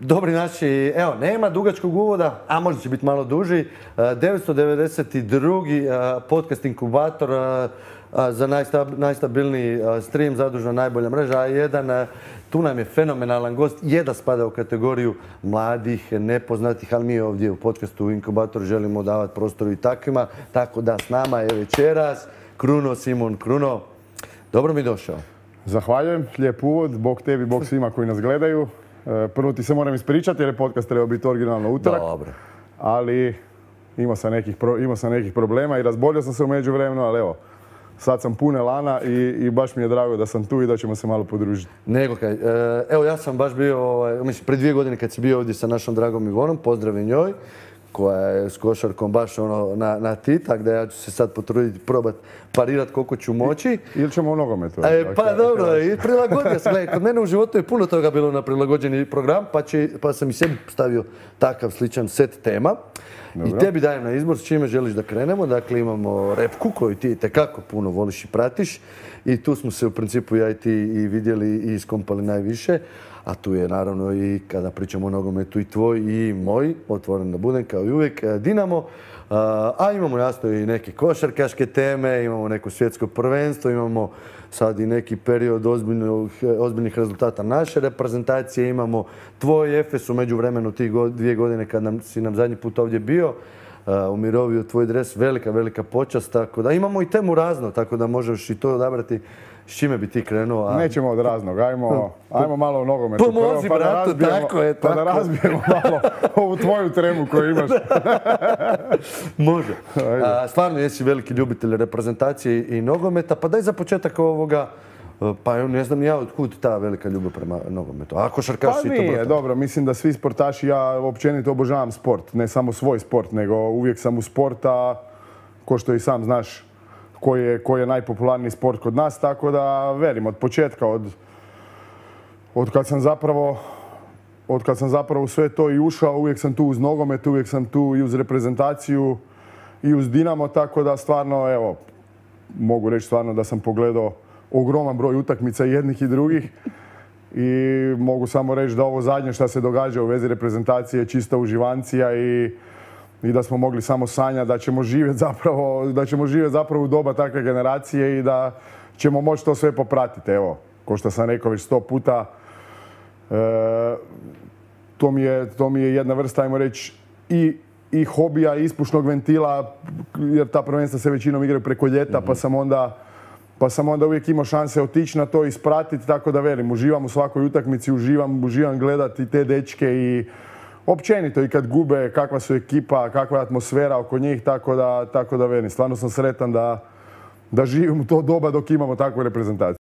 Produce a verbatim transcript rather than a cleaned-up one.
Dobri naši, evo, nema dugačkog uvoda, a možda će biti malo duži. devetsto devedeset drugi podcast inkubator za najstabilniji stream, zadužena najbolja mreža A jedan. Tu nam je fenomenalan gost, je da spada u kategoriju mladih, nepoznatih, ali mi ovdje u podcastu Inkubator želimo davati prostoru i takvima. Tako da s nama je večeras Kruno, Simon Kruno. Dobro mi došao. Zahvaljujem, lijep uvod, bog tebi, bog svima koji nas gledaju. Prvo ti se moram ispričati jer je podcast trebao biti originalno utorak. Dobro. Ali imao sam nekih, pro, imao sam nekih problema i razbolio sam se u međuvremenu, ali evo, sad sam pun elana i, i baš mi je drago da sam tu i da ćemo se malo podružiti. Nego kaj, evo ja sam baš bio, ovaj, mislim, pred dvije godine kad si bio ovdje sa našom dragom Ivonom, pozdravi njoj, koja je s košarkom baš ono na, na ti, tako da ja ću se sad potruditi probati parirati koliko ću moći. Ili ćemo u nogometu. E, pa dobro, i prilagodio sam. Kod mene u životu je puno toga bilo na prilagođeni program, pa, će, pa sam i sebi stavio takav sličan set tema. Dobro. I tebi dajem na izbor s čime želiš da krenemo. Dakle, imamo repku koju ti tekako puno voliš i pratiš. I tu smo se u principu ja i ti i vidjeli i iskompali najviše. A tu je naravno i kada pričamo o nogometu i tvoj i moj, otvoren da budem kao i uvijek, Dinamo. A imamo jasno i neke košarkaške teme, imamo neko svjetsko prvenstvo, imamo sad i neki period ozbiljnih, ozbiljnih rezultata naše reprezentacije, imamo tvoj Efes u međuvremenu tih dvije godine kad nam, si nam zadnji put ovdje bio, umirovio tvoj dres, velika, velika počast, tako da imamo i temu razno, tako da možeš i to odabrati. S čime bi ti krenuo? A... Nećemo od raznog, ajmo, ajmo malo o nogometu. Pomozi, pa bratu, tako je. Pa da razbijemo malo ovu tvoju tremu koju imaš. Može. A, stvarno jesi veliki ljubitelj reprezentacije i nogometa, pa daj za početak ovoga, pa ne znam ja otkud ta velika ljubav prema nogometu. A košarkaš si to brata? Pa nije, dobro, mislim da svi sportaši, ja općenito obožavam sport, ne samo svoj sport, nego uvijek sam u sporta, ko što i sam znaš, koji je, koji je najpopularniji sport kod nas, tako da velim od početka, od, od kad sam zapravo od kad sam zapravo u sve to i ušao, uvijek sam tu uz nogomet, uvijek sam tu i uz reprezentaciju i uz Dinamo, tako da stvarno, evo, mogu reći stvarno da sam pogledao ogroman broj utakmica jednih i drugih i mogu samo reći da ovo zadnje što se događa u vezi reprezentacije je čista uživancija i i da smo mogli samo sanjati da ćemo živjeti zapravo, da ćemo živjeti zapravo u doba takve generacije i da ćemo moći to sve popratiti. Evo, kao što sam rekao već sto puta, e, to, mi je, to mi je jedna vrsta, ajmo reći, i, i hobija, i ispušnog ventila, jer ta prvenstva se većinom igraju preko ljeta, mm-hmm. pa sam onda pa sam onda uvijek imao šanse otići na to i ispratiti, tako da velim, uživam u svakoj utakmici, uživam, uživam gledati te dečke i općenito i kad gube, kakva su ekipa, kakva je atmosfera oko njih, tako da, tako da velim. Stvarno sam sretan da, da živim u to doba dok imamo takvu reprezentaciju.